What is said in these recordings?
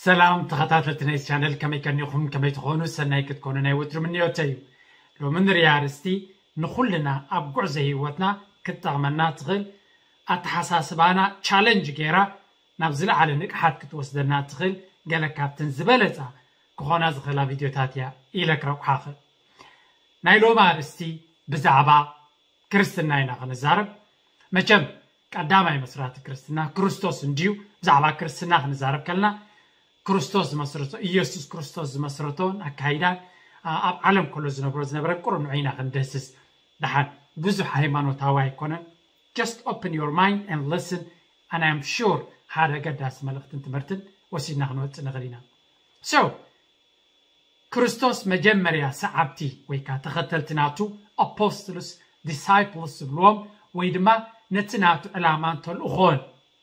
ሰላም ተኸታተልቲ ናይ ቻነል፣ ከመይ ቀኒኹም? ከመይ ትኾኑ? ሰናይ ክትኮኑ ናይ ወትሩ ምንዮተይ እዩ። ሎሚ ንሪኣ ኣርእስቲ ንኹልና ኣብ ጉዕዞ ህይወትና ክትጠቕመና ትኽእል፣ ኣተሓሳስባና ቻለንጅ ገይራ ናብ ዝለዓለ ንቕሓት ክትወስደና ትኽእል ገለ ካብተን ዝበለጻ ክኾና ዝኽእላ ቪድዮታት እያ ኢለ ክረቑሓ እኽእል። ናይ ሎሚ ኣርእስቲ ብዛዕባ ክርስትና ኢና ክንዛረብ። መቸም ቀዳማይ መስራቲ ክርስትና ክርስቶስ እንድዩ። ብዛዕባ ክርስትና ክንዛረብ ከለና ክርስቶስ ዝመስረቶ፣ ኢየሱስ ክርስቶስ ዝመስረቶን ኣካይዳን ኣብ ዓለም ከሎ ዝነብሮ ዝነበረ ቁሩብ ንዑ ኢና ክንደስስ። ደሓን ብዙሕ ሃይማኖታዊ ኣይኮነን። Just open your mind and listen, and I'm sure ሓደ ገዳሲ መልእኽትን ትምህርትን ወሲድና ክንወፅእ ንኽእል ኢና። So ክርስቶስ መጀመርያ ሰዓብቲ ወይ ከዓ ተኸተልቲ ናቱ ኣፖስትልስ ዲሳይፕልስ ዝብልዎም ወይ ድማ ነቲ ናቱ ዕላማን ተልእኾን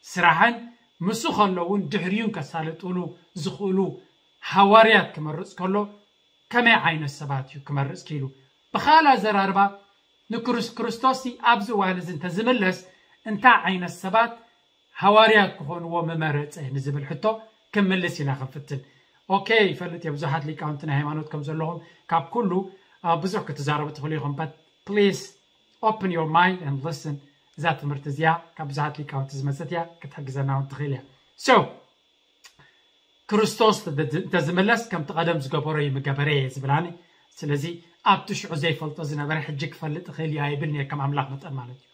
ስራሕን ምስ ከለውን ድሕሪዩን ከሳልጥሉ ዝኽእሉ ሃዋርያት ክመርፅ ከሎ ከመይ ዓይነት ሰባት እዩ ክመርፅ ክኢሉ? ብኻል ኣዘራርባ ንክርስ ክርስቶስ ኣብዚ እዋን እዚ እንተዝምለስ እንታይ ዓይነት ሰባት ሃዋርያት ክኾንዎ ምመረፀ ንዝብል ሕቶ ክምልስ ኢና ክንፍትን። ኦኬ፣ ይፈልጥ እየ ብዙሓት ሊቃውንቲ ናይ ሃይማኖት ከም ዘለኹም፣ ካብ ኩሉ ብዙሕ ክትዛረቡ ትኽእሉ ኢኹም። But please open your mind and listen። እዛ ትምህርቲ እዚኣ ካብ ብዙሓት ሊቃውንቲ ዝመፀት እያ፣ ክትሕግዘና እውን ትኽእል እያ። So ክርስቶስ እንተዝምለስ ከምቲ ቀደም ዝገበሮ እዩ ምገበረ እየ ዝብል ኣነ። ስለዚ ኣብቲ ሽዑ ዘይፈልጦ ዝነበረ ሕጂ ክፈልጥ እኽእል እዩ ኣይብል እየ፣ ከም ኣምላኽ መጠን ማለት እዩ።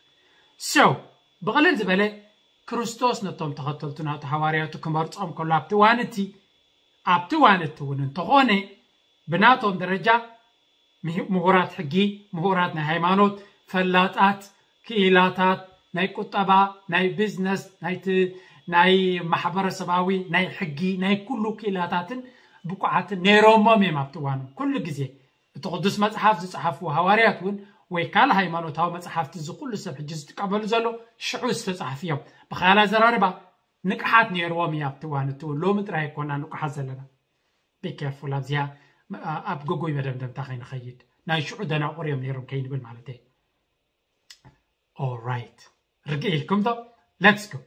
So ብቕልል ዝበለ ክርስቶስ ነቶም ተኸተልቱ ናቱ ሃዋርያቱ ክመርጾም ከሎ ኣብቲ እዋን እቲ ኣብቲ እዋን እቲ እውን እንተኾነ ብናቶም ደረጃ ምሁራት ሕጊ፣ ምሁራት ናይ ሃይማኖት፣ ፈላጣት፣ ክኢላታት ናይ ቁጠባ፣ ናይ ቢዝነስ፣ ናይ ማሕበረሰባዊ፣ ናይ ሕጊ፣ ናይ ኩሉ ክኢላታትን ብቁዓትን ነይሮሞም እዮም ኣብቲ እዋኑ። ኩሉ ግዜ እቲ ቅዱስ መፅሓፍ ዝፀሓፍዎ ሃዋርያት እውን ወይ ካልእ ሃይማኖታዊ መፅሓፍቲ እዚ ኩሉ ሰብ ሕጂ ዝጥቀመሉ ዘሎ ሽዑ ዝተፃሕፉ እዮም። ብካል ኣዘራርባ ንቅሓት ነይርዎም እዩ ኣብቲ እዋን እቲ እውን። ሎሚ ጥራይ ኣይኮና ንቁሓት ዘለና። Be careful ኣብዚኣ ኣብ ግጉይ መደምደምታ ከይንኸይድ፣ ናይ ሽዑ ደናቁር እዮም ነይሮም ከይንብል ማለት እየ። Alright፣ ርግእ ኢልኩም ዶ? Let's go።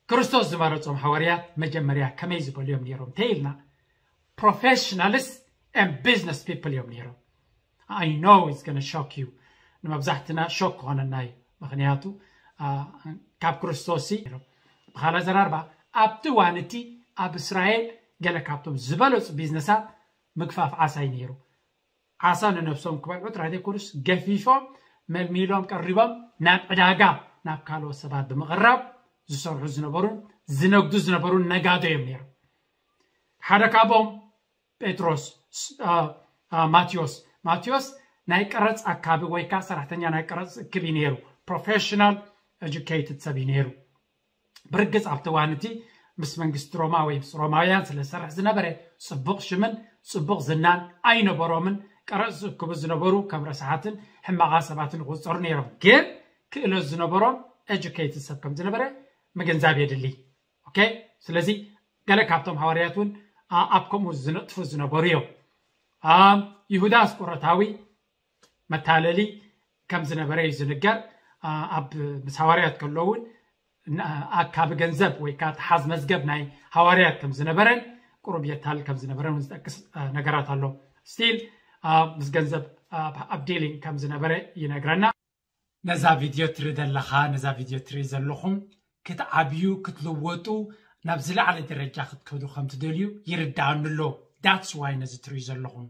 ክርስቶስ ዝመረጾም ሃዋርያት መጀመርያ ከመይ ዝበሉ እዮም ነይሮም ተይልና፣ professionals and business people እዮም ነይሮም። I know it's gonna shock you። ንመብዛሕትና ሾክ ክኾነና እዩ። ምክንያቱ ካብ ክርስቶስ ብኻላ ዘራርባ ኣብቲ እዋን እቲ ኣብ እስራኤል ገለ ካብቶም ዝበለፁ ቢዝነሳት ምግፋፍ ዓሳ እዩ ነይሩ። ዓሳ ንነብሶም ክበልዑ ጥራይ ዘይኮኑስ ገፊፎም መልሚሎም ቀሪቦም ናብ ዕዳጋ ናብ ካልኦት ሰባት ብምቕራብ ዝሰርሑ ዝነበሩን ዝነግዱ ዝነበሩን ነጋዶ እዮም ነይሮም። ሓደ ካብኦም ጴጥሮስ ማቴዎስ ማቴዎስ ናይ ቀረፅ ኣካቢ ወይ ከዓ ሰራሕተኛ ናይ ቀረፅ እክብ እዩ ነይሩ። ፕሮፌሽናል ኤጁኬትድ ሰብ እዩ ነይሩ። ብርግፅ ኣብቲ እዋን እቲ ምስ መንግስቲ ሮማ ወይ ምስ ሮማውያን ስለ ዝሰርሕ ዝነበረ ፅቡቕ ሽምን ፅቡቕ ዝናን ኣይነበሮምን። ቀረፅ ዝእክቡ ዝነበሩ ከም ረስሓትን ሕማቓ ሰባትን ይቁፀሩ ነይሮም። ግን ክእለት ዝነበሮም ኤጁኬትድ ሰብ ከም ዝነበረ ምግንዛብ የድሊ። ኦኬ፣ ስለዚ ገለ ካብቶም ሃዋርያት እውን ኣብ ከምኡ ዝነጥፉ ዝነበሩ እዮም። ይሁዳ ኣስቆሮታዊ መታለሊ ከም ዝነበረ እዩ ዝንገር። ኣብ ምስ ሃዋርያት ከሎ እውን ኣካቢ ገንዘብ ወይ ከዓ ተሓዝ መዝገብ ናይ ሃዋርያት ከም ዝነበረን ቁሩብ የታል ከም ዝነበረን እውን ዝጠቅስ ነገራት ኣሎ። ስቲል ምስ ገንዘብ ኣብ ዲሊንግ ከም ዝነበረ ይነግረና። ነዛ ቪድዮ ትርኢ ዘለኻ፣ ነዛ ቪድዮ ትርኢ ዘለኹም ክትዓብዩ፣ ክትልወጡ፣ ናብ ዝለዓለ ደረጃ ክትከዱ ከም ትደልዩ ይርድኣኒ ኣሎ። That's why ነዚ ትርእዩ ዘለኹም።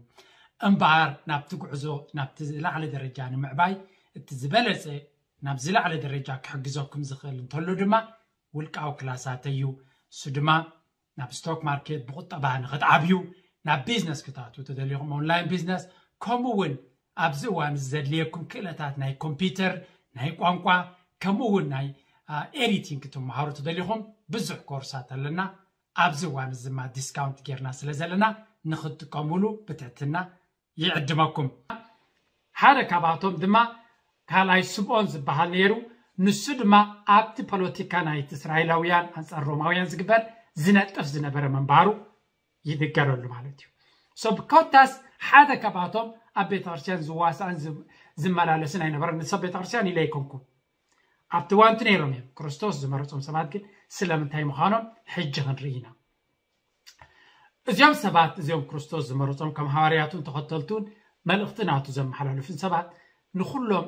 እምበኣር ናብቲ ጉዕዞ ናብቲ ዝለዓለ ደረጃ ንምዕባይ እቲ ዝበለጸ ናብ ዝለዓለ ደረጃ ክሕግዘኩም ዝኽእል እንተሎ ድማ ውልቃዊ ክላሳተይ እዩ። እሱ ድማ ናብ ስቶክ ማርኬት ብቁጠባ ንክትዓብዩ፣ ናብ ቢዝነስ ክትኣትዉ ተደሊኹም ኦንላይን ቢዝነስ፣ ከምኡ እውን ኣብዚ እዋን እዚ ዘድልየኩም ክእለታት ናይ ኮምፒውተር፣ ናይ ቋንቋ፣ ከምኡ እውን ናይ ኤዲቲንግ ክትመሃሩ ተደሊኹም ብዙሕ ኮርሳት ኣለና። ኣብዚ እዋን እዚ ድማ ዲስካውንት ጌርና ስለ ዘለና ንክትጥቀሙሉ ብትሕትና ይዕድመኩም። ሓደ ካብኣቶም ድማ ካልኣይ ስምኦን ዝበሃል ነይሩ። ንሱ ድማ ኣብቲ ፖለቲካ ናይቲ እስራኤላውያን ኣንጻር ሮማውያን ዝግበር ዝነጥፍ ዝነበረ ምንባሩ ይንገረሉ ማለት እዩ። ሶ ብኮታስ ሓደ ካብኣቶም ኣብ ቤተክርስትያን ዝዋሳእን ዝመላለስን ኣይነበረን። ንሰብ ቤተክርስትያን ኢለ ኣይኮንኩም። ኣብቲ እዋንቲ ነይሮም እዮም። ክርስቶስ ዝመረጾም ሰባት ግን ስለምንታይ ምዃኖም ሕጂ ክንርኢ ኢና። እዚኦም ሰባት እዚኦም ክርስቶስ ዝመረጾም ከም ሃዋርያቱን ተኸተልቱን መልእኽቲ ናቱ ዘመሓላልፉን ሰባት ንኹሎም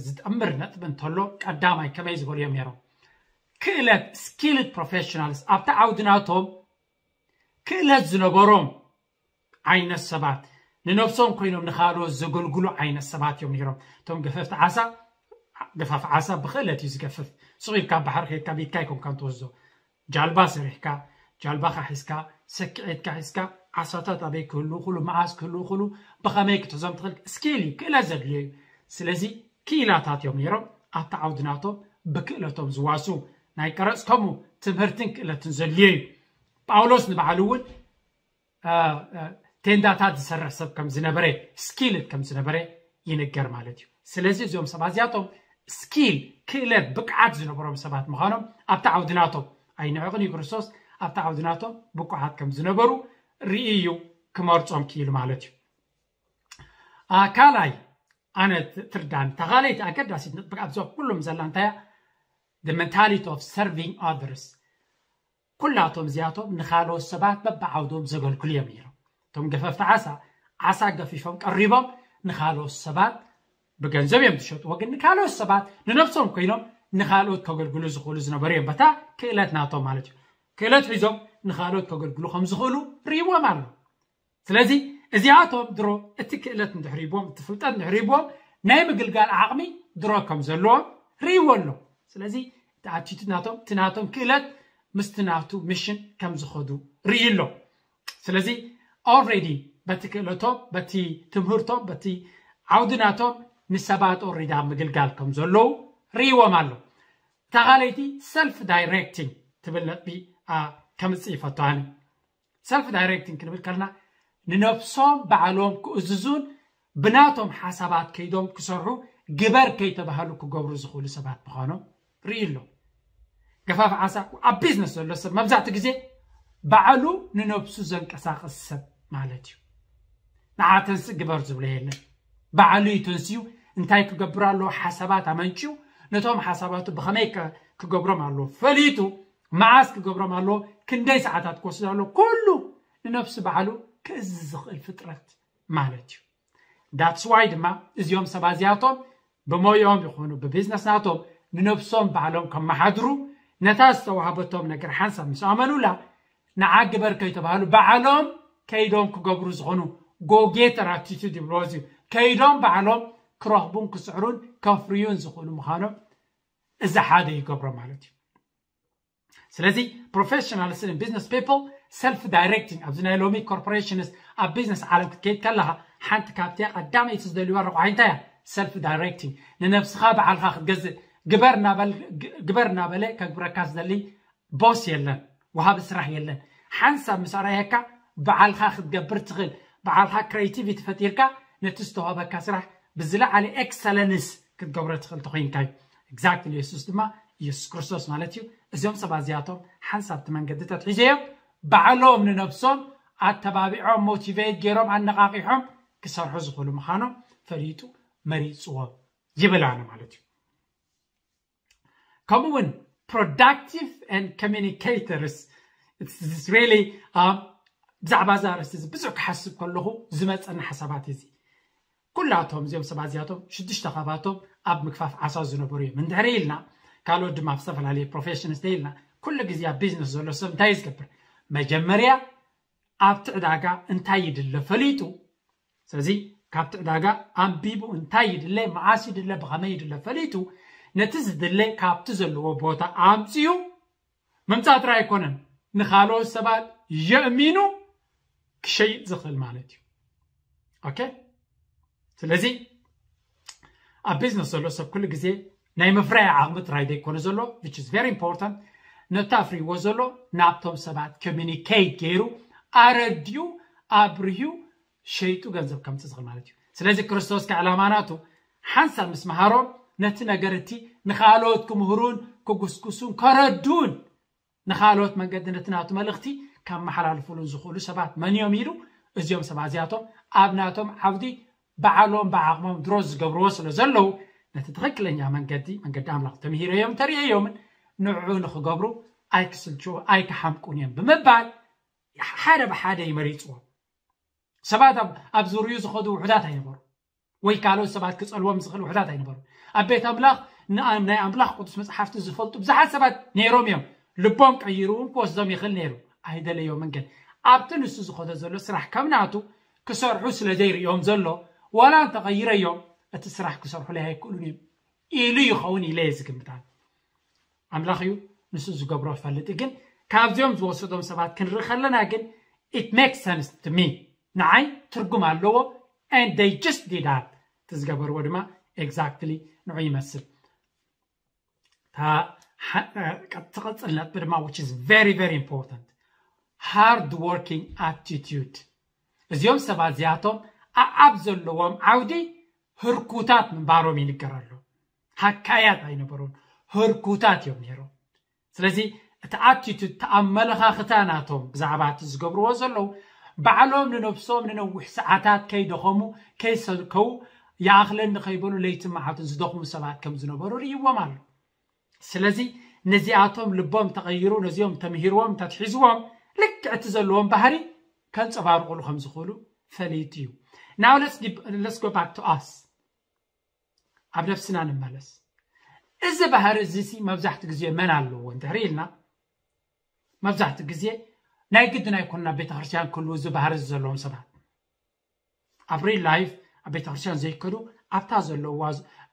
ዝጠምር ነጥቢ እንተሎ ቀዳማይ ከመይ ዝበሉ እዮም ነይሮም? ክእለት፣ skilled professionals፣ ኣብቲ ዓውዲ ናቶም ክእለት ዝነበሮም ዓይነት ሰባት፣ ንነብሶም ኮይኖም ንኻልኦት ዘገልግሉ ዓይነት ሰባት እዮም ነይሮም። እቶም ገፈፍቲ ዓሳ፣ ገፋፍ ዓሳ ብክእለት እዩ ዝገፍፍ። ስቕ ኢልካ ባሕሪ ከይድካ ቢትካ ኣይኮንካን ትወስዶ። ጃልባ ሰሪሕካ፣ ጃልባኻ ሒዝካ፣ ሰኪዔትካ ሒዝካ፣ ዓሳታት ኣበይ ክህልዉ ክሉ፣ መዓስ ክህልዉ ክሉ፣ ብኸመይ ክትሕዞም ትኽእል፣ ስኪል እዩ፣ ክእለት ዘድልዮ እዩ። ስለዚ ክኢላታት እዮም ነይሮም። ኣብቲ ዓውዲ ናቶም ብክእለቶም ዝዋሱ ናይ ቀረፅ ከምኡ ትምህርትን ክእለትን ዘድልዮ እዩ። ጳውሎስ ንባዕሉ እውን ቴንዳታት ዝሰርሕ ሰብ ከም ዝነበረ፣ ስኪልድ ከም ዝነበረ ይንገር ማለት እዩ። ስለዚ እዚኦም ሰባት እዚኣቶም ስኪል፣ ክእለት፣ ብቅዓት ዝነበሮም ሰባት ምዃኖም ኣብቲ ዓውዲ ናቶም ኣይንዕቕን እዩ። ክርስቶስ ኣብቲ ዓውዲ ናቶም ብቁዓት ከም ዝነበሩ ርኢ እዩ ክመርጾም ክኢሉ ማለት እዩ። ካልኣይ ኣነ ትርዳን ተኻለይቲ ኣገዳሲት ነጥቢ ኣብዚ ኩሎም ዘላ እንታይ mentality of serving others። ኩላቶም እዚኣቶም ንኻልኦት ሰባት በብዓውዶም ዘገልግሉ እዮም ነይሮም። እቶም ገፈፍቲ ዓሳ ዓሳ ገፊፎም ቀሪቦም ንኻልኦት ሰባት ብገንዘብ እዮም ዝሸጥዎ፣ ግን ንካልኦት ሰባት ንነብሶም ኮይኖም ንኻልኦት ከገልግሉ ዝኽእሉ ዝነበሩ እዮም። በታ ክእለት ናቶም ማለት እዩ። ክእለት ሒዞም ንኻልኦት ከገልግሉ ከም ዝኽእሉ ርእይዎም ኣሎ። ስለዚ እዚኣቶም ድሮ እቲ ክእለት እንድሕር ሂቦም፣ እቲ ፍልጠት እንድሕር ሂቦም፣ ናይ ምግልጋል ዓቕሚ ድሮ ከም ዘለዎም ርእይዎ ኣሎ። ስለዚ እቲ ኣቲቱድ ናቶም፣ እቲ ናቶም ክእለት ምስቲ ናቱ ሚሽን ከም ዝኸዱ ርእዩ ኣሎ። ስለዚ ኦልሬዲ በቲ ክእለቶም፣ በቲ ትምህርቶም፣ በቲ ዓውዲ ናቶም ንሰባት ኦልሬዲ ኣብ ምግልጋል ከም ዘለዉ ርእይዎም ኣሎ። እታ ካልኣይቲ ሰልፍ ዳይሬክቲንግ ትብል ነጥቢ ከምፅእ ይፈቱ ኣነ። ሰልፍ ዳይሬክቲንግ ክንብል ከለና ንነብሶም ባዕሎም ክእዝዙን ብናቶም ሓሳባት ከይዶም ክሰርሑ ግበር ከይተባሃሉ ክገብሩ ዝኽእሉ ሰባት ምዃኖም ርኢ ኣሎ። ገፋፍ ዓሳ ኣብ ቢዝነስ ዘሎ ሰብ መብዛሕትኡ ግዜ ባዕሉ ንነብሱ ዘንቀሳቕስ ሰብ ማለት እዩ። ንዓ ተንስእ ግበር ዝብሎ የለን። ባዕሉ እዩ ተንስዩ እንታይ ክገብር ኣለዎ ሓሳባት ኣመንጭዩ ነቶም ሓሳባቱ ብኸመይ ክገብሮም ኣለዎ ፈሊጡ መዓስ ክገብሮም ኣለዎ፣ ክንደይ ሰዓታት ክወስድ ኣለዎ፣ ኩሉ ንነብሱ ባዕሉ ክእዝዝ ዝኽእል ፍጥረት ማለት እዩ። That's why ድማ እዚኦም ሰባት እዚኣቶም ብሞያኦም ይኹኑ ብቢዝነስ ናቶም ንነብሶም ባዕሎም ከመሓድሩ ነታ ዝተዋህበቶም ነገር ሓንሳብ ምስ ኣመኑላ ንዓ ግበር ከይተባሃሉ ባዕሎም ከይዶም ክገብሩ ዝኾኑ ጎጌተር ኣቲቱድ ይብልዎ እዚ ከይዶም ባዕሎም ክረኽቡን ክስዕሩን ከፍርዩን ዝኽእሉ ምዃኖም እዚ ሓደ ይገብሮ ማለት እዩ። ስለዚ professionals and business people self directing ኣብዚ ናይ ሎሚ ኮርፖሬሽንስ ኣብ ቢዝነስ ዓለም ክትከይድ ከለኻ ሓንቲ ካብቲ ቀዳመይቲ ዝደልዩዋ ረቑሓ እንታይ እያ? ሰልፍ ዳይሬክቲንግ ንነብስኻ በዓልኻ ክትገዝእ ግበር እናበለ ከግብረካ ዝደሊ ቦስ የለን፣ ወሃቢ ስራሕ የለን። ሓንሳብ ምስ ኣርኣየካ በዓልኻ ክትገብር ትኽእል፣ በዓልኻ ክሬቲቪቲ ፈጢርካ ነቲ ዝተዋህበካ ስራሕ ብዝለዓለ ኤክሰለንስ ክትገብሮ ትኽእል ተኮይንካ እዩ። ኤግዛክትሊ የሱስ ድማ ኢየሱስ ክርስቶስ ማለት እዩ። እዚኦም ሰባት እዚኣቶም ሓንሳብ እቲ መንገዲ ተትሒዘዮም ባዕሎም ንነብሶም ኣተባቢዖም ሞቲቬት ገይሮም ኣነቓቒሖም ክሰርሑ ዝኽእሉ ምዃኖም ፈሊጡ መሪፅዎም ይብል ኣነ ማለት እዩ። ከምኡ እውን productive and communicators really ብዛዕባ እዛ ኣርእስቲ እዚ ብዙሕ ክሓስብ ከለኹ ዝመፀኒ ሓሳባት እዚ ኩላቶም እዚኦም ሰባት እዚኣቶም ሽዱሽተ ካባቶም ኣብ ምግፋፍ ዓሳ ዝነበሩ እዮም እንድሕር ኢልና ካልኦት ድማ ኣብ ዝተፈላለየ ፕሮፌሽንስ ኢልና ኩሉ ግዜ ኣብ ቢዝነስ ዘሎ ሰብ እንታይ እዩ ዝገብር መጀመርያ ኣብቲ ዕዳጋ እንታይ ይድለ ፈሊጡ ስለዚ ካብቲ ዕዳጋ ኣንቢቡ እንታይ ይድለ መዓስ ይድለ ብኸመይ ይድለ ፈሊጡ ነቲ ዝድለ ካብቲ ዘለዎ ቦታ ኣምፅኡ ምምፃእ ጥራይ ኣይኮነን ንኻልኦት ሰባት የእሚኑ ክሸይጥ ዝኽእል ማለት እዩ ኦኬ ስለዚ ኣብ ቢዝነስ ዘሎ ሰብ ኩሉ ግዜ ናይ ምፍራይ ዓቕሚ ጥራይ ዘይኮነ ዘሎ which is very important ነቲ ኣፍርይዎ ዘሎ ናብቶም ሰባት ኮሚኒኬት ገይሩ ኣረድዩ ኣብርሁ ሸይጡ ገንዘብ ከምፅእ ዝኽእል ማለት እዩ ስለዚ ክርስቶስ ከዕላማ ናቱ ሓንሳብ ምስ መሃሮም ነቲ ነገር እቲ ንኻልኦት ክምህሩን ክጉስጉሱን ከረዱን ንኻልኦት መንገዲ ነቲ ናቱ መልእኽቲ ከመሓላልፉሉን ዝኽእሉ ሰባት መን እዮም ኢሉ እዚኦም ሰባት እዚኣቶም ኣብ ናቶም ዓውዲ ባዕሎም ብዓቕሞም ድሮ ዝገብርዎ ስለ ዘለዉ ነቲ ትኽክለኛ መንገዲ መንገዲ ኣምላኽ ተምሂረዮም ተርእየዮምን ንዕኡ ንኽገብሩ ኣይክስልችዎ ኣይክሓምቁን እዮም ብምባል ሓደ ብሓደ ይመሪፅዎም። ሰባት ኣብ ዙርዩ ዝኸዱ ውሑዳት ኣይነበሩ፣ ወይ ካልኦት ሰባት ክፀልዎም ዝኽእል ውሑዳት ኣይነበሩ። ኣብ ቤት ኣምላኽ ናይ ኣምላኽ ቅዱስ መፅሓፍቲ ዝፈልጡ ብዙሓት ሰባት ነይሮም እዮም። ልቦም ቀይሩ እውን ክወስዶም ይኽእል ነይሩ። ኣይደለዮምን ግን ኣብቲ ንሱ ዝኸዶ ዘሎ ስራሕ ከም ናቱ ክሰርሑ ስለ ዘይርእዮም ዘሎ፣ ዋላ እንተቐይረዮም እቲ ስራሕ ክሰርሑለይ ኣይክእሉን እዮም ኢሉ ይኸውን ኢለ እየ ዝግምት። ኣምላኽ እዩ ንሱ ዝገብሮ ፈልጥ። ግን ካብዚኦም ዝወሰዶም ሰባት ክንርኢ ከለና ግን it makes sense to me፣ ንዓይ ትርጉም ኣለዎ። And they just did that። እቲ ዝገበርዎ ድማ exactly ንዑ ይመስል። ትቐፅል ነጥቢ ድማ which is very very important፣ hard working attitude። እዚኦም ሰባት እዚኣቶም ኣብ ዘለዎም ዓውዲ ህርኩታት ምንባሮም ይንገር ኣሎ። ሃካያት ኣይነበሩን፣ ህርኩታት እዮም ነይሮም። ስለዚ እቲ attitude፣ እቲ ኣመለኻኽታ ናቶም ብዛዕባ እቲ ዝገብርዎ ዘለዉ፣ ባዕሎም ንነብሶም ንነዊሕ ሰዓታት ከይደኸሙ ከይሰልከዉ፣ ይኣኽለኒ ከይበሉ ለይትን መዓልትን ዝደኽሙ ሰባት ከም ዝነበሩ ርእይዎም ኣሎ። ስለዚ ነዚኣቶም ልቦም ተቐይሩ፣ ነዚኦም ተምሂርዎም እንተትሒዝዎም፣ ልክዕ እቲ ዘለዎም ባህሪ ከንጸባርቑሉ ከም ዝኽእሉ ፈሊጡ እዩ። Now let's give, let's go back to us። ኣብ ነፍስና ንመለስ። እዚ ባህሪ እዚ ሲ መብዛሕትኡ ግዜ መን ኣለዎ እንድሕር ኢልና፣ መብዛሕትኡ ግዜ ናይ ግድን ኣይኮኑን ኣብ ቤተክርስትያን ክህልዉ እዚ ባህሪ እዚ ዘለዎም ሰባት። ኣብ real life ኣብ ቤተክርስትያን ዘይከዱ፣ ኣብታ ዘለዋ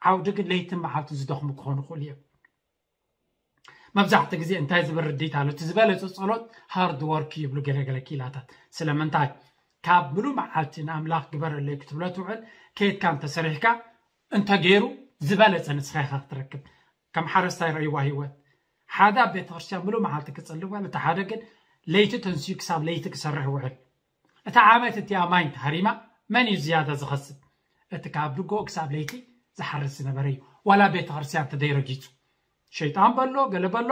ዓውዲ ግን ለይትን መዓልትን ዝደኽሙ ክኾኑ ይኽእሉ እዮም። መብዛሕትኡ ግዜ እንታይ ዝብል ርድኢት ኣሎ? እቲ ዝበለጸ ጸሎት hard work ይብሉ ገለገለ ክኢላታት። ስለምንታይ? ካብ ምሉእ መዓልቲ ንኣምላኽ ግበረለይ ክትብሎ ትውዕል፣ ከይድካ እንተሰሪሕካ እንተገይሩ ዝበለጸ ንስኻ ኢኻ ክትረክብ። ከም ሓረስታይ ረእይዋ ህይወት። ሓደ ኣብ ቤተክርስትያን ምሉእ መዓልቲ ክጽሊ እዋል፣ እቲ ሓደ ግን ለይቲ ተንስዩ ክሳብ ለይቲ ክሰርሕ ይውዕል። እታ ዓመት እቲኣ ማይ እንተሃሪማ መን እዩ ዝያዳ ዝኸስብ? እቲ ካብ ድጎ ክሳብ ለይቲ ዝሓርስ ዝነበረ እዩ። ዋላ ቤተክርስትያን ተደይረጊጹ ሸይጣን በሎ ገለ በሎ።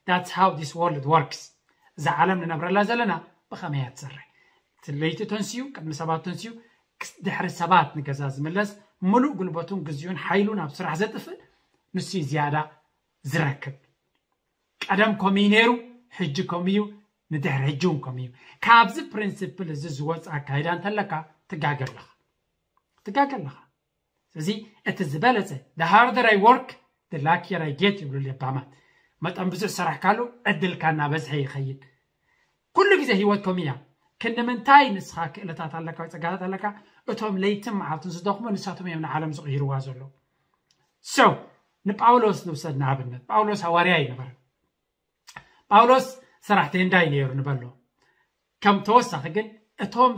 That's how this world works። እዛ ዓለም ንነብረላ ዘለና ብኸመይ እያ ትሰርሕ? እቲ ለይቲ ተንስዩ ቅድሚ ሰባት ተንስዩ ድሕሪ ሰባት ንገዛ ዝምለስ፣ ምሉእ ጉልበቱን ግዜኡን ሓይሉን ኣብ ስራሕ ዘጥፍእ ንሱ እዩ ዝያዳ ዝረክብ። ቀደም ከምኡ እዩ ነይሩ፣ ሕጂ ከምኡ እዩ፣ ንድሕሪ ሕጂ እውን ከምኡ እዩ። ካብዚ ፕሪንሲፕል እዚ ዝወፅ ኣካይዳ እንተለካ ትጋገ ኣለኻ፣ ትጋገ ኣለኻ። ስለዚ እቲ ዝበለፀ the harder I work the luckier I get ይብሉ ለባማት። መጠን ብዙሕ ሰራሕካሉ ዕድልካ እናበዝሐ ይኸይድ። ኩሉ ግዜ ህይወት ከምኡ እያ። ክንዲ ምንታይ ንስኻ ክእለታት ኣለካ ወይ ፀጋታት ኣለካ፣ እቶም ለይትን መዓልትን ዝደኽሙ ንሳቶም እዮም ንዓለም ዝቕይርዋ ዘለዉ። So ንጳውሎስ ንውሰድ ንኣብነት። ጳውሎስ ሃዋርያ ኣይነበረን። ጳውሎስ ሰራሕተኛ እንዳይ ነይሩ ንበሎ። ከም ተወሳኺ ግን እቶም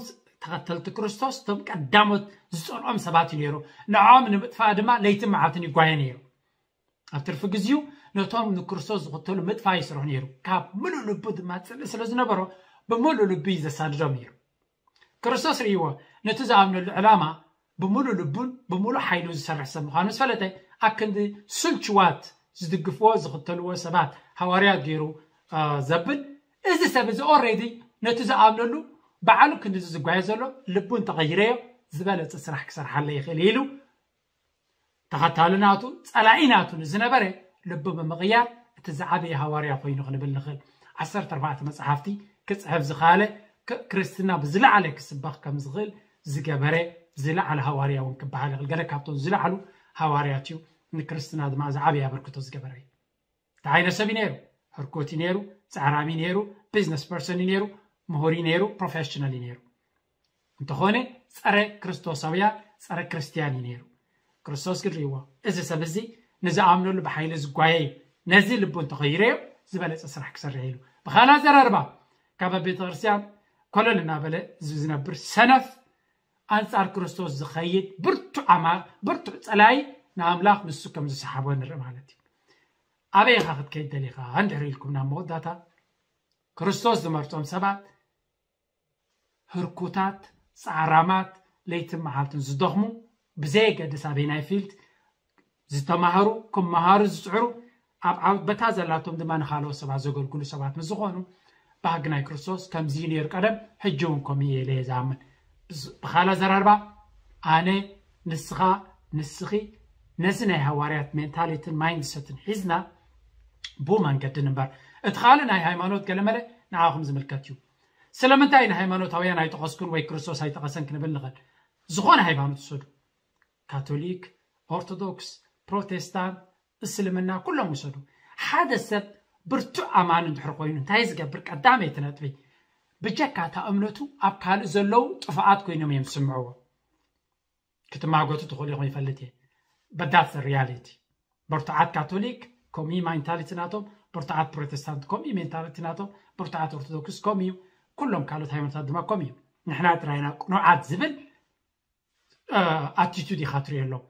ተኸተልቲ ክርስቶስ እቶም ቀዳሞት ዝፀልኦም ሰባት እዩ ነይሩ። ንዕኦም ንምጥፋእ ድማ ለይትን መዓልትን ይጓየ ነይሩ። ኣብ ትርፊ ግዜኡ ነቶም ንክርስቶስ ዝኽተሉ ምጥፋእ ይስርሑ ነይሩ። ካብ ምሉእ ልቡ ድማ ፅልኢ ስለ ዝነበሮ ብምሉእ ልቡ እዩ ዘሳድዶም ነይሩ። ክርስቶስ ርእይዎ ነቲ ዝኣምነሉ ዕላማ ብምሉእ ልቡን ብምሉእ ሓይሉን ዝሰርሕ ሰብ ምዃኑ ዝፈለጠ፣ ኣብ ክንዲ ስልችዋት ዝድግፍዎ ዝኽተልዎ ሰባት ሃዋርያት ገይሩ ዘብል፣ እዚ ሰብ እዚ ኦሬዲ ነቲ ዝኣምነሉ ባዕሉ ክንዲ ዝጓየ ዘሎ ልቡ እንተቐይረዮ ዝበለፀ ስራሕ ክሰርሓለ ይኽእል ኢሉ ተኸታሊ ናቱ ፀላኢ ናቱ ንዝነበረ ልቡ ብምቕያር እቲ ዝዓበየ ሃዋርያ ኮይኑ ክንብል ንኽእል። ዓሰርተ ኣርባዕተ መፅሓፍቲ ክፅሕፍ ዝኸኣለ፣ ክርስትና ብዝለዓለ ክስበኽ ከም ዝኽእል ዝገበረ ዝለዓለ ሃዋርያ እውን ክበሃል ይኽእል። ገለ ካብቶም ዝለዓሉ ሃዋርያት እዩ። ንክርስትና ድማ ዝዓበየ ኣበርክቶ ዝገበረ እዩ። እንታይ ዓይነት ሰብ እዩ ነይሩ? ህርኩት እዩ ነይሩ፣ ፃዕራሚ ነይሩ፣ ቢዝነስ ፐርሰን እዩ ነይሩ፣ ምሁር እዩ ነይሩ፣ ፕሮፌሽናል እዩ ነይሩ። እንተኾነ ፀረ ክርስቶሳውያን፣ ፀረ ክርስትያን እዩ ነይሩ። ክርስቶስ ግን ርእይዎ፣ እዚ ሰብ እዚ ንዝኣምነሉ ብሓይሊ ዝጓየ እዩ፣ ነዚ ልቡ እንተኸይረዮ ዝበለፀ ስራሕ ክሰርሕ ኢሉ። ብኻልእ ኣዘራርባ ካብ ኣብ ቤተ ክርስትያን ኮለል እናበለ ዝነብር ሰነፍ ኣንጻር ክርስቶስ ዝኸይድ ብርቱዕ ኣማ ብርቱዕ ጸላይ ንኣምላኽ ንሱ ከም ዝሰሓቦ ንርኢ ማለት እዩ። ኣበይ ኢኻ ክትከይድ ደሊኻ እንድሕር ኢልኩም ናብ መወዳእታ ክርስቶስ ዝመርጾም ሰባት ህርኩታት፣ ጻዕራማት፣ ለይትን መዓልትን ዝደኽሙ ብዘየገድስ ኣበይናይ ፊልድ ዝተማህሩ ክመሃሩ ዝጽዕሩ ኣብ ዓውድ በታ ዘላቶም ድማ ንኻልኦት ሰባት ዘገልግሉ ሰባት ምስ ዝኾኑ ባህጊ ናይ ክርስቶስ ከምዚ እዩ ነይሩ ቀደም ሕጂ እውን ከምኡ እየ ኢለ እየ ዝኣምን። ብኻልእ ኣዘራርባ ኣነ ንስኻ ንስኺ ነዚ ናይ ሃዋርያት ሜንታሊትን ማይንድሰትን ሒዝና ብኡ መንገዲ ንበር። እቲ ካልእ ናይ ሃይማኖት ገለመለ ንዓኹም ዝምልከት እዩ። ስለምንታይ ንሃይማኖታውያን ኣይጠቐስኩን ወይ ክርስቶስ ኣይጠቐሰን ክንብል ንኽእል? ዝኾነ ሃይማኖት ውሰዱ፣ ካቶሊክ፣ ኦርቶዶክስ፣ ፕሮቴስታንት፣ እስልምና፣ ኩሎም ውሰዱ። ሓደ ሰብ ብርቱዕ ኣማኒ እንድሕር ኮይኑ እንታይ ዝገብር? ቀዳመይቲ ነጥቢ፣ ብጀካ እታ እምነቱ ኣብ ካልእ ዘለዉ ጥፋኣት ኮይኖም እዮም ዝስምዕዎ። ክትማጎቱ ትኽእሉ ኢኹም፣ ይፈልጥ እየ። But that's the reality። ብርቱዓት ካቶሊክ ከምኡ ሜንታሊቲ ናቶም፣ ብርቱዓት ፕሮቴስታንት ከምኡ ሜንታሊቲ ናቶም፣ ብርቱዓት ኦርቶዶክስ ከምኡ እዩ። ኩሎም ካልኦት ሃይማኖታት ድማ ከምኡ እዩ። ንሕና ጥራይና ቅኑዓት ዝብል ኣቲቱድ ኢኻ ትሪኦ ኣለዉ።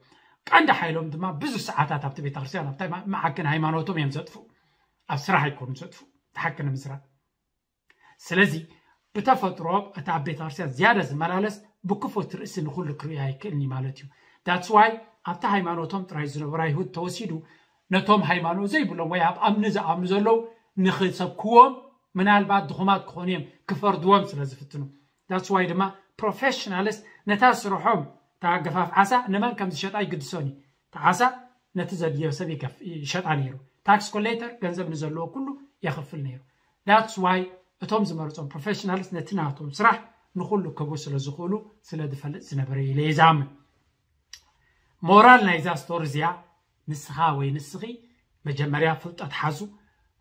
ቀንዲ ሓይሎም ድማ ብዙሕ ሰዓታት ኣብቲ ቤተክርስትያን ኣብታ መዓከን ሃይማኖቶም እዮም ዘጥፉ፣ ኣብ ስራሕ ኣይኮኑ ዘጥፉ። ተሓቂ ንምስራት ስለዚ ብተፈጥሮ እቲ ኣብ ቤተክርስትያን ዝያዳ ዝመላለስ ብክፉት ርእሲ ንኹሉ ክርእዮ ኣይክእልን እዩ ማለት እዩ። That's why ኣብቲ ሃይማኖቶም ጥራይ ዝነበሩ ኣይሁድ ተወሲዱ ነቶም ሃይማኖት ዘይብሎም ወይ ኣብ ኣምኒ ዝኣምኑ ዘለዉ ንኽሰብክዎም ምናልባት ድኹማት ክኾኑ እዮም፣ ክፈርድዎም ስለ ዝፍትኑ። That's why ድማ ፕሮፌሽናልስ ነታ ስርሖም እታ ገፋፍ ዓሳ ንመን ከም ዝሸጣ ይግድሶን እዩ። እታ ዓሳ ነቲ ዘድልዮ ሰብ ይሸጣ ነይሩ። ታክስ ኮሌክተር ገንዘብ ንዘለዎ ኩሉ የኽፍል ነይሩ። That's why እቶም ዝመርጾም ፕሮፌሽናልስ ነቲ ናቶም ስራሕ ንኹሉ ክህቡ ስለ ዝኽእሉ ስለ ዝፈልጥ ዝነበረ ኢለ ይዛምን። ሞራል ናይዛ ስቶሪ እዚኣ ንስኻ ወይ ንስኺ መጀመርያ ፍልጠት ሓዙ፣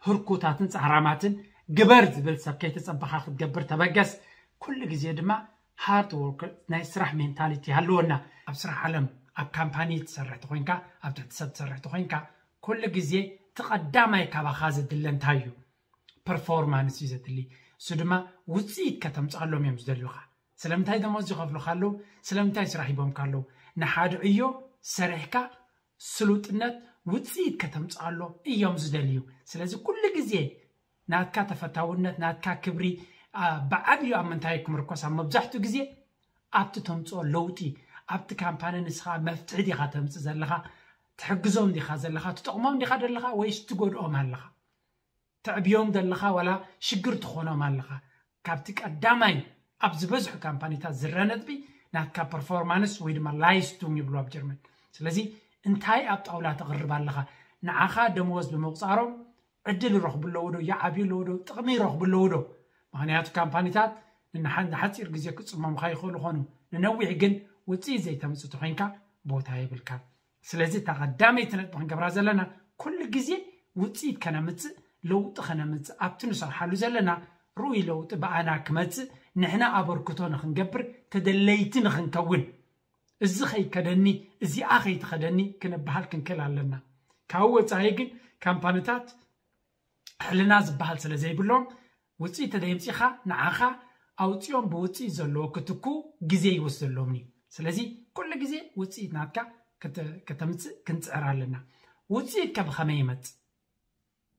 ህርኩታትን ጻዕራማትን ግበር ዝብል ሰብ ከይተጸበኻ ክትገብር ተበገስ። ኩሉ ግዜ ድማ ሃርድ ወርክ ናይ ስራሕ ሜንታሊቲ ሃልወና። ኣብ ስራሕ ዓለም ኣብ ካምፓኒ ትሰርሕ ተኾይንካ፣ ኣብ ትሕቲ ሰብ ትሰርሕ ተኾይንካ፣ ኩሉ ግዜ እቲ ቀዳማይ ካባኻ ዘድለ እንታይ እዩ? ፐርፎርማንስ እዩ ዘድሊ። እሱ ድማ ውፅኢት ከተምፅኣሎም እዮም ዝደልዩኻ። ስለምንታይ ደሞዝ ይኸፍሉኻ ኣለዉ? ስለምንታይ ስራሕ ሂቦምካ ኣለዉ? ንሓደ ዕዮ ሰሪሕካ ስሉጥነት ውፅኢት ከተምፅኣሎም እዮም ዝደልዩ። ስለዚ ኩሉ ግዜ ናትካ ተፈታውነት፣ ናትካ ክብሪ ብዓብዩ ኣብ ምንታይ ክምርኮስ? ኣብ መብዛሕትኡ ግዜ ኣብቲ ተምፅኦ ለውጢ፣ ኣብቲ ካምፓኒ ንስኻ መፍትሒ ዲኻ ተምፅእ ዘለኻ፣ ትሕግዞም ዲኻ ዘለኻ፣ ትጠቕሞም ዲኻ ዘለኻ ወይስ ትጎድኦም ኣለኻ? ተዕብዮም ዘለኻ ዋላ ሽግር ትኾኖም ኣለኻ? ካብቲ ቀዳማይ ኣብ ዝበዝሑ ካምፓኒታት ዝረአ ነጥቢ ናትካ ፐርፎርማንስ ወይ ድማ ላይስቱንግ ይብሉ ኣብ ጀርመን። ስለዚ እንታይ ኣብ ጣውላ ተቕርብ ኣለኻ? ንዓኻ ደመወዝ ብምቑፃሮም ዕድል ይረኽቡ ኣለዉ ዶ? ይዓብዩ ኣለዉ ዶ? ጥቕሚ ይረኽቡ ኣለዉ ዶ? ምኽንያቱ ካምፓኒታት ንሓ- ንሓፂር ግዜ ክፅመሙኻ ይኽእሉ ኾኑ፣ ንነዊሕ ግን ውፅኢት ዘይተምፅእ ተኾይንካ ቦታ የብልካ። ስለዚ እታ ቀዳመይቲ ነጥቢ ክንገብራ ዘለና ኩሉ ግዜ ውፅኢት ከነምፅእ፣ ለውጢ ከነምፅእ፣ ኣብቲ ንሰርሓሉ ዘለና ርኡይ ለውጢ ብኣና ክመፅእ ንሕና ኣበርክቶ ንክንገብር ተደለይቲ ንክንከውን፣ እዚ ከይከደኒ እዚኣ ከይትኸደኒ ክንበሃል ክንክእል ኣለና። ካብኡ ወፃኢ ግን ካምፓኒታት ሕልና ዝበሃል ስለ ዘይብሎም ውፅኢት ተደይምፂኻ ንዓኻ ኣውፅኦም ብውፅኢት ዘለዎ ክትኩ ግዜ ይወስደሎም እዩ። ስለዚ ኩሉ ግዜ ውፅኢት ናትካ ክተ- ከተምፅእ ክንፅዕር ኣለና። ውፅኢት ከ ብኸመይ ይመፅእ?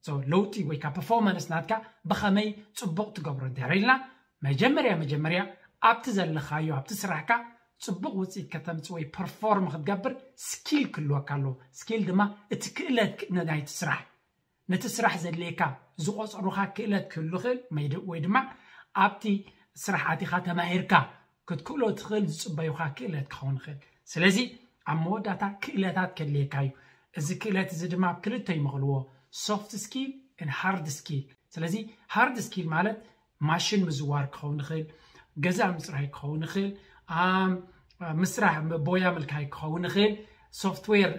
So ለውጢ ወይ ከዓ ፐርፎርማንስ ናትካ ብኸመይ ፅቡቕ ትገብሮ እንድሕር ኢልና መጀመርያ መጀመርያ ኣብቲ ዘለኻዮ ኣብቲ ስራሕካ ፅቡቕ ውፅኢት ከተምፅእ ወይ ፐርፎርም ክትገብር ስኪል ክህልወካ ኣለዎ። ስኪል ድማ እቲ ክእለት ክ- ናይቲ ስራሕ ነቲ ስራሕ ዘድልየካ ዝቆፀሩኻ ክእለት ክህሉ ይኽእል መይድ- ወይ ድማ ኣብቲ ስራሕ ኣቲኻ ተማሂርካ ክትክእሎ ትኽእል ዝፅበዩኻ ክእለት ክኸውን ይኽእል። ስለዚ ኣብ መወዳእታ ክእለታት ከድልየካ እዩ። እዚ ክእለት እዚ ድማ ኣብ ክልተ ይመቕልዎ፣ ሶፍት ስኪል ን ሃርድ ስኪል። ስለዚ ሃርድ ስኪል ማለት ማሽን ምዝዋር ክኸውን ይኽእል፣ ገዛ ምፅራይ ክኸውን ይኽእል፣ ኣም፣ ምስራሕ ቦያ ምልካይ ክኸውን ይኽእል፣ ሶፍትዌር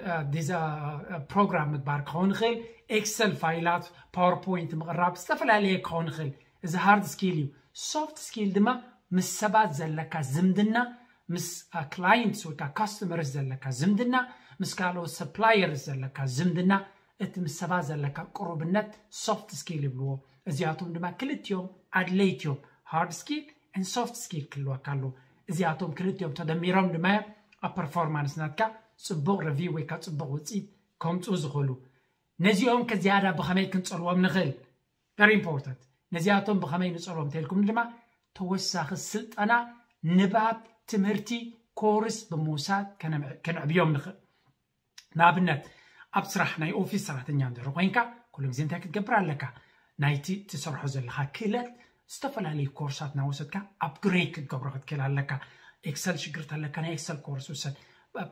ፕሮግራም ምግባር ክኸውን ይኽእል፣ ኤክሰል ፋይላት ፓወርፖይንት ምቕራብ ዝተፈላለየ ክኸውን ይኽእል። እዚ ሃርድ ስኪል እዩ። ሶፍት ስኪል ድማ ምስ ሰባት ዘለካ ዝምድና፣ ምስ ክላይንትስ ወይ ከዓ ካስተመርስ ዘለካ ዝምድና፣ ምስ ካልኦት ሰፕላየርስ ዘለካ ዝምድና፣ እቲ ምስ ሰባት ዘለካ ቅሩብነት ሶፍት ስኪል ይብልዎ። እዚኣቶም ድማ ክልቲኦም ኣድለይቲ እዮም። ሃርድ ስኪል ን ሶፍት ስኪል ክህልወካ ኣለዎ። እዚኣቶም ክልቲኦም ተደሚሮም ድማ እዮም ኣብ ፐርፎርማንስ ናትካ ፅቡቕ ሪቪው ወይ ከዓ ፅቡቕ ውፅኢት ከምፅኡ ዝኽእሉ። ነዚኦም ከ ዝያዳ ብኸመይ ክንፀልዎም ንኽእል? Very important። ነዚኣቶም ብኸመይ ንፀልዎም እንተልኩም ድማ ተወሳኺ ስልጠና፣ ንባብ፣ ትምህርቲ፣ ኮርስ ብምውሳድ ከነምዕ- ከነዕብዮም ንኽእል። ንኣብነት ኣብ ስራሕ ናይ ኦፊስ ሰራሕተኛ እንድሕር ኮይንካ ኩሉ ግዜ እንታይ ክትገብር ኣለካ? ናይቲ ትሰርሖ ዘለካ ክእለት ዝተፈላለዩ ኮርሳት እናወሰድካ ኣፕግሬድ ክትገብሮ ክትክእል ኣለካ። ኤክሰል ሽግር ተለካ ናይ ኤክሰል ኮርስ ውሰድ።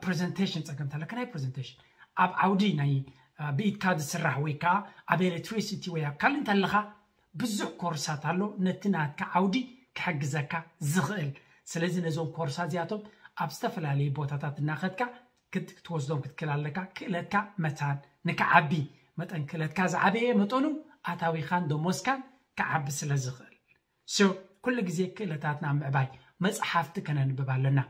ፕሬዘንቴሽን ፀገም ተለካ ናይ ፕሬዘንቴሽን። ኣብ ዓውዲ ናይ ብኢድካ ዝስራሕ ወይ ከዓ ኣብ ኤሌክትሪሲቲ ወይ ኣብ ካልእ እንተለካ ብዙሕ ኮርሳት ኣሎ። ነቲ ናትካ ዓውዲ ክሕግዘካ ዝኽእል። ስለዚ ነዞም ኮርሳት እዚኣቶም ኣብ ዝተፈላለዩ ቦታታት እናኸድካ ክትወስዶም ክትክእል ኣለካ። ክእለትካ መታን ንክዓቢ፣ መጠን ክእለትካ ዝዓበየ መጠኑ ኣታዊኻን ደሞዝካን ክዓቢ ስለ ዝኽእል። So ኩሉ ግዜ ክእለታትና ምዕባይ፣ መፅሓፍቲ ከነንብብ ኣለና።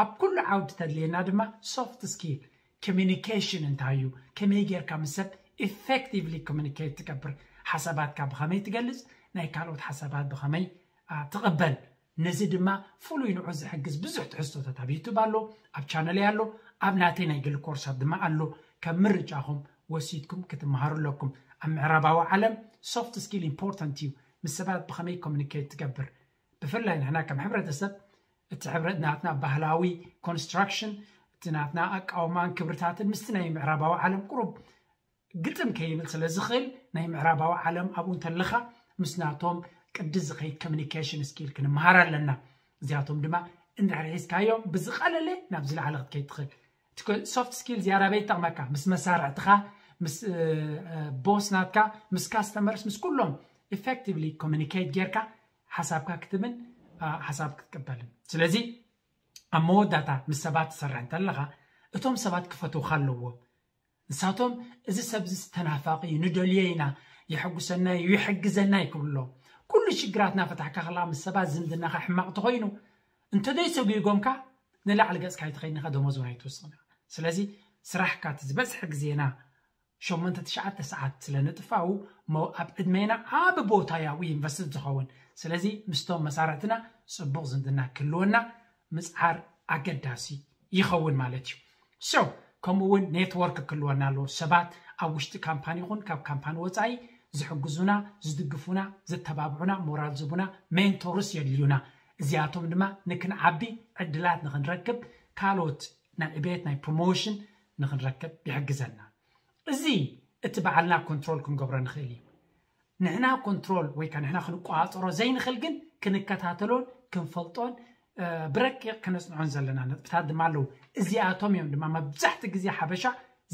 ኣብ ኩሉ ዓውዲ ተድልየና ድማ ሶፍት ስኪል ኮሚኒኬሽን እንታይ እዩ፣ ከመይ ጌርካ ምስ ሰብ ኢፌክቲቭሊ ኮሚኒኬት ትገብር፣ ሓሳባትካ ብኸመይ ትገልፅ፣ ናይ ካልኦት ሓሳባት ብኸመይ ትቕበል። ነዚ ድማ ፍሉይ ንዑ ዝሕግዝ ብዙሕ ትሕዝቶታት ኣብ ዩቱብ ኣሎ፣ ኣብ ቻነለይ ኣሎ፣ ኣብ ናተይ ናይ ግሊ ኮርሳት ድማ ኣሎ። ከም ምርጫኹም ወሲድኩም ክትመሃሩ ኣለኩም። ኣብ ምዕራባዊ ዓለም ሶፍት ስኪል ኢምፖርታንት እዩ። ምስ ሰባት ብኸመይ ኮሚኒኬት ትገብር፣ ብፍላይ ንሕና ከም ሕብረተሰብ እቲ ሕብረት ናትና ባህላዊ ኮንስትራክሽን፣ እቲ ናትና ኣቃውማን ክብርታትን ምስቲ ናይ ምዕራባዊ ዓለም ቁሩብ ግጥም ከይብል ስለ ዝኽእል፣ ናይ ምዕራባዊ ዓለም ኣብኡ እንተለኻ ምስ ናቶም ቅዲ ዝኸይድ ኮሚኒኬሽን ስኪል ክንመሃር ኣለና። እዚኣቶም ድማ እንድሕር ሒዝካዮም ብዝቐለለ ናብ ዝለዓለ ክትከይድ ትኽእል። ሶፍት ስኪል ዝያዳ በይ ይጠቕመካ? ምስ መሳርዕትኻ፣ ምስ ቦስ ናትካ፣ ምስ ካስተመርስ፣ ምስ ኩሎም ኢፌክቲቭሊ ኮሚኒኬት ጌርካ ሓሳብካ ክትብን ሓሳብ ክትቅበልን። ስለዚ ኣብ መወዳእታ ምስ ሰባት ትሰርሕ እንተለኻ፣ እቶም ሰባት ክፈትውካ ኣለዎም። ንሳቶም እዚ ሰብ እዚ ተናፋቂ እዩ፣ ንደልዮ ኢና፣ የሐጉሰና እዩ፣ ይሕግዘና እዩ ክብሉ ኣለዎም። ኩሉ ሽግራትና ፈታሕካ ከለኻ ምስ ሰባት ዝምድናኻ ሕማቕ ተኾይኑ፣ እንተደይ ሰጒጎምካ ንላዕሊ ገጽካ ኣይትኸይድን ኢኻ፣ ደሞዝ እውን ኣይትውስኽን ኢኻ። ስለዚ ስራሕካ እቲ ዝበዝሐ ግዜና ሸሞንተ ትሽዓተ ሰዓት ስለ ንጥፋኡ፣ ሞ ኣብ ዕድሜና ዓቢ ቦታ ያው ኢንቨስት ዝኸውን። ስለዚ ምስቶም መሳርዕትና ጽቡቕ ዝምድና ክህልወና ምጽዓር ኣገዳሲ ይኸውን ማለት እዩ። So ከምኡ እውን ኔትወርክ ክህልወና ኣለዎ። ሰባት ኣብ ውሽጢ ካምፓኒ ይኹን ካብ ካምፓኒ ወጻኢ ዝሕግዙና፣ ዝድግፉና፣ ዘተባብዑና፣ ሞራል ዝቡና ሜንቶርስ የድልዩና። እዚኣቶም ድማ ንክንዓቢ ዕድላት ንክንረክብ፣ ካልኦት ናይ ዕቤት ናይ ፕሮሞሽን ንክንረክብ ይሕግዘና። እዚ እቲ ባዕልና ኮንትሮል ክንገብሮ ንኽእል እዩ። ንሕና ኮንትሮል ወይ ከዓ ንሕና ክንቆፃፀሮ ዘይንኽእል ግን ክንከታተሎን ክንፈልጦን ብረቂቕ ከነፅንዖን ዘለና ነጥብታት ድማ ኣለዉ። እዚኣቶም እዮም ድማ መብዛሕቲ ግዜ ሓበሻ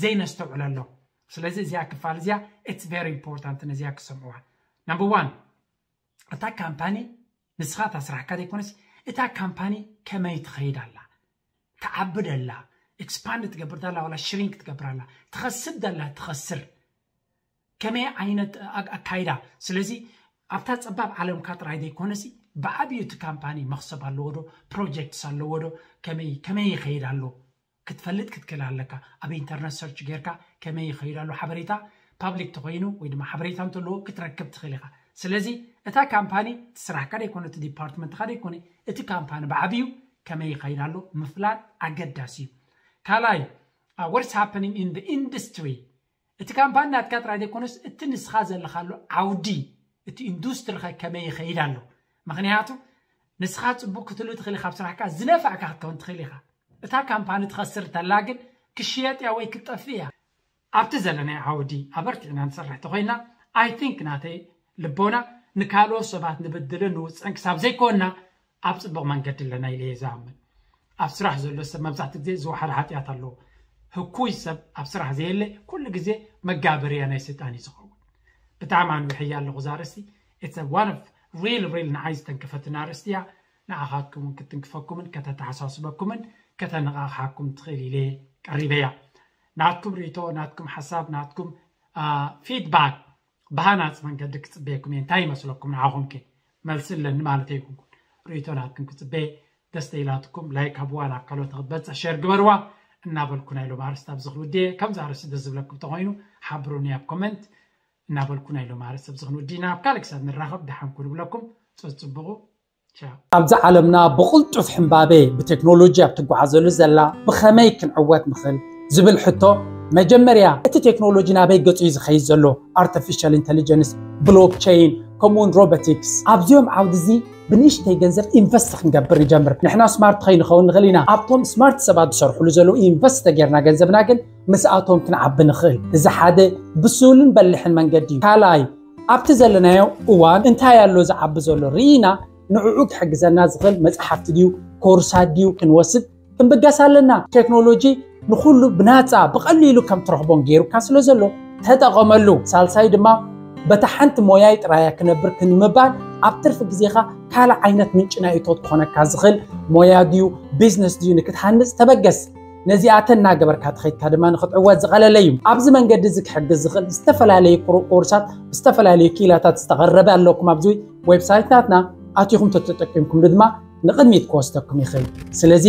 ዘይነስተውዕለሎም። ስለዚ እዚኣ ክፋል እዚኣ it's very important፣ ነዚኣ ክሰምዕዋ። ናምበር ዋን፣ እታ ካምፓኒ ንስኻ እታ ስራሕካ ዘይኮነስ እታ ካምፓኒ ከመይ ትኸይድ ኣላ፣ ትዓቢ ደላ፣ ኤክስፓንድ ትገብር ደላ ዋላ ሽሪንክ ትገብር ኣላ፣ ትኸስብ ደላ ትኸስር፣ ከመይ ዓይነት ኣካይዳ። ስለዚ ኣብታ ፀባብ ዓለምካ ጥራይ ዘይኮነሲ ብዓብዩ እቲ ካምፓኒ መኽሰብ ኣለዎ ዶ፣ ፕሮጀክትስ ኣለዎ ዶ፣ ከመይ ከመይ ይኸይድ ኣሎ ክትፈልጥ ክትክእል ኣለካ። ኣብ ኢንተርነት ሰርች ጌርካ ከመይ ይኸይድ ኣሎ ሓበሬታ፣ ፓብሊክ ተኾይኑ ወይ ድማ ሓበሬታ እንተለዎ ክትረክብ ትኽእል ኢኻ። ስለዚ እታ ካምፓኒ እቲ ስራሕካ ደይኮነ እቲ ዲፓርትመንትካ ደይኮነ እቲ ካምፓኒ ብዓብዩ ከመይ ይኸይድ ኣሎ ምፍላጥ ኣገዳሲ እዩ። ካልኣይ፣ what's happening in the industry፣ እቲ ካምፓኒ ናትካ ጥራይ ዘይኮነስ እቲ ንስኻ ዘለኻሉ ዓውዲ እቲ ኢንዱስትሪ ኸ ከመይ ይኸይድ ኣሎ። ምክንያቱ ንስኻ ፅቡቅ ክትሉ ትኽእል ኢኻ፣ ኣብ ስራሕካ ዝነፋዕካ ክትከውን ትኽእል ኢኻ። እታ ካምፓኒ ትኸስር ተላ ግን ክሽየጥ እያ ወይ ክትጠፍእ እያ። ኣብቲ ዘለናይ ዓውዲ ኣበርቲዕና ንሰርሕ ተኾይና፣ I think ናተይ ልቦና ንካልኦት ሰባት ንብድልን ንውፅዕን ክሳብ ዘይኮንና ኣብ ፅቡቕ መንገዲ ኣለና ኢለ እየ ዝኣምን። ኣብ ስራሕ ዘሎ ሰብ መብዛሕትኡ ግዜ ዝወሓደ ሓጢኣት ኣለዎ። ህኩይ ሰብ ኣብ ስራሕ ዘየለ ኩሉ ግዜ መጋበርያ ናይ ሰይጣን እዩ ዝኸውን። ብጣዕሚ ኣንዊሐያ ኣለኹ እዛ ኣርእስቲ። It's a one of real real ንዓይ ዝተንከፈትን ኣርእስቲ እያ። ንዓኻትኩም እውን ክትንክፈኩምን ከተተሓሳስበኩምን ከተነቓቕሓኩም ትኽእል ኢለ ቀሪበያ። ናትኩም ርእይቶ፣ ናትኩም ሓሳብ፣ ናትኩም ፊድባክ ብሃናፂ መንገዲ ክፅበየኩም እየ። እንታይ ይመስለኩም ንዓኹም ከ? መልሲ ኣለኒ ማለት ኣይኮንኩን። ርእይቶ ናትኩም ክፅበየ። ደስ ተኢላትኩም ላይክ ሃብዋ፣ ናብ ካልኦት ንክትበፅሕ ሸር ግበርዋ እናበልኩ ናይ ሎም ኣርእስቲ ኣብዚ ክውድየ። ከምዚ ኣርእስቲ ደስ ዝብለኩም ተኾይኑ ሓብሩኒ ኣብ ኮመንት እናበልኩ ናይ ሎም ኣርእስቲ ኣብዚ ክንውዲ ኢና። ኣብ ካልእ ክሳብ ንራኸብ ደሓን ኩኑ ብለኩም። ፀፅብቑ። ቻው። ኣብዚ ዓለምና ብቕልጡፍ ሕምባቤ ብቴክኖሎጂ ኣብ ትጓዓዘሉ ዘላ ብኸመይ ክንዕወት ንኽእል ዝብል ሕቶ፣ መጀመርያ እቲ ቴክኖሎጂ ናበይ ገጹ እዩ ዝኸይድ ዘሎ? ኣርቲፊሻል ኢንተሊጀንስ፣ ብሎክቸይን፣ ከምኡውን ሮቦቲክስ። ኣብዚኦም ዓውዲ እዚ ብንእሽተይ ገንዘብ ኢንቨስት ክንገብር ንጀምር። ንሕና ስማርት ከይንኸውን ንኽእል ኢና። ኣብቶም ስማርት ሰባት ዝሰርሕሉ ዘለዉ ኢንቨስት ተጌርና ገንዘብና ግን ምስኣቶም ክንዓቢ ንኽእል። እዚ ሓደ ብሱልን በሊሕን መንገዲ እዩ። ካልኣይ፣ ኣብቲ ዘለናዮ እዋን እንታይ ኣሎ ዝዓቢ ዘሎ ርኢና ንዕኡ ክሕግዘና ዝኽእል መጽሓፍቲ ድዩ ኮርሳት ድዩ ክንወስድ ክንብገስ ኣለና። ቴክኖሎጂ ንኹሉ ብናጻ ብቐሊሉ ከም ትረኽቦን ገይሩካ ስለ ዘሎ ተጠቐመሉ። ሳልሳይ ድማ በታ ሓንቲ ሞያይ ጥራያ ክነብር ክንምባል ኣብ ትርፊ ግዜኻ ካልእ ዓይነት ምንጭ ናይ እቶት ክኾነካ ዝኽእል ሞያ ድዩ ቢዝነስ ድዩ ንክትሃንጽ ተበገስ። ነዚኣተን እናገበርካ ተኸይድካ ድማ ንክትዕወት ዝቐለለ እዩ። ኣብዚ መንገዲ እዚ ክሕግዝ ዝኽእል ዝተፈላለዩ ኩሩ- ኮርሳት ብዝተፈላለዩ ክኢላታት ዝተቐረበ ኣለኩም። ኣብዚ ዌብሳይት ናትና ኣቲኹም ተተጠቂምኩም ድማ ንቕድሚት ክወስደኩም ይኽእል። ስለዚ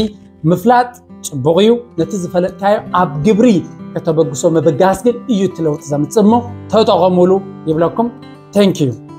ምፍላጥ ጽቡቕ እዩ። ነቲ ዝፈለጥካዮ ኣብ ግብሪ ከተበግሶ ምብጋስ ግን እዩ እቲ ለውጢ ዘምጽእ እሞ ተጠቐሙሉ ይብለኩም። Thank you።